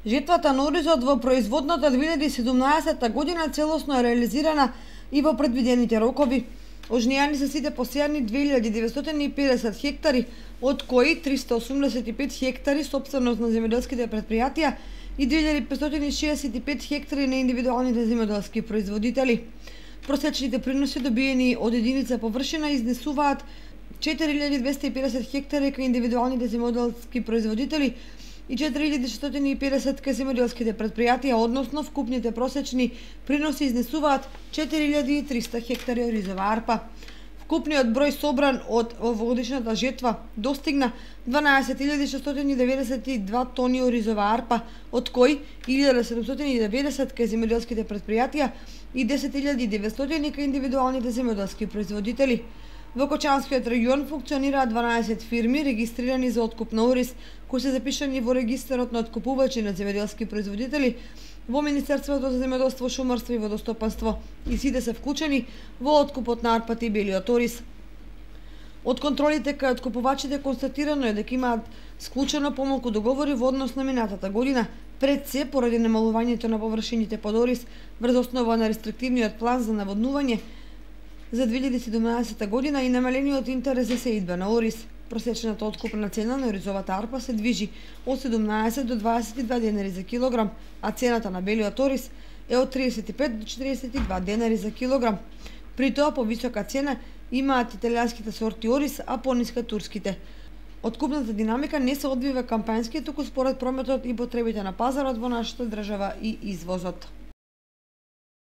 Жетвата на оризот во производната 2017 година целосно е реализирана и во предвидените рокови. Ожнејани се сите посејани 2950 хектари, од кои 385 хектари собственост на земјоделските претпријатија и 2565 хектари на индивидуалните земјоделски производители. Просечните приноси добиени од единица површина изнесуваат 4250 хектари кај индивидуалните земјоделски производители и 4650 кај земјоделските претпријатија, односно вкупните просечни приноси изнесуваат 4300 хектари оризова арпа. Вкупниот број собран од овогодишната жетва достигна 12692 тони оризова арпа, од кои 1790 кај земјоделските претпријатија и 10900 кај индивидуалните земјоделски производители. Во Кочанскиот регион функционираат 12 фирми регистрирани за откуп на ориз, кои се запишани во регистарот на откупувачи на земјоделски производители во Министерството за земјоделство, шумарство и водостопанство, и сите се вклучени во откупот на арпата и белиот ориз. Од контролите кај откупувачите констатирано е дека имаат склучено помалку договори во однос на минатата година, пред се поради намалувањето на површините под ориз врз основа на рестриктивниот план за наводнување за 2017 година и намалениот интерес за сеидба на ориз. Просечната откупна цена на оризовата арпа се движи од 17 до 22 денари за килограм, а цената на белиот ориз е од 35 до 42 денари за килограм. При тоа повисока цена имаат италијанските сорти ориз, а пониска турските. Откупната динамика не се одвива кампањски, туку според прометот и потребите на пазарот во нашата држава и извозот.